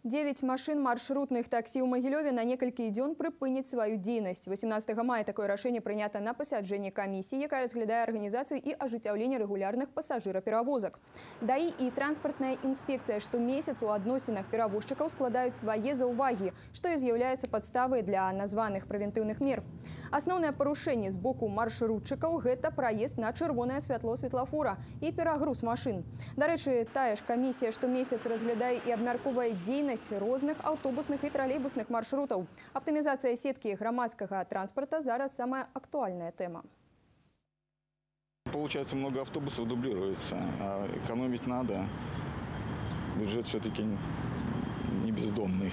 9 машин маршрутных такси ў Магілёве на некалькі дзён прыпыняць сваю дзейнасць. 18 мая такое рашэнне прынята на пасяджэнні камісіі, якая разглядае арганізацыю і ажыццяўленне рэгулярных пасажыраперавозак. ДАІ і транспартная інспекцыя штомесяц у адносінах перавозчыкаў складаюць свае заўвагі, што і з'яўляецца падставай для названых прэвентыўных мер. Асноўнае парушэнне з боку маршрутчыкаў – гэта праезд на чырвонае святло светлафора і перагруз машын. Дарэчы, тая ж камісія штомесяц разглядае і абмяркоўвае дзейнасць розных аўтобусных і тралейбусных маршрутаў. Аптымізацыя сеткі грамадскага транспорта зараз самая актуальная тема. Получается, много автобусов дублируется, а экономить надо. Бюджет все-таки не бездомный.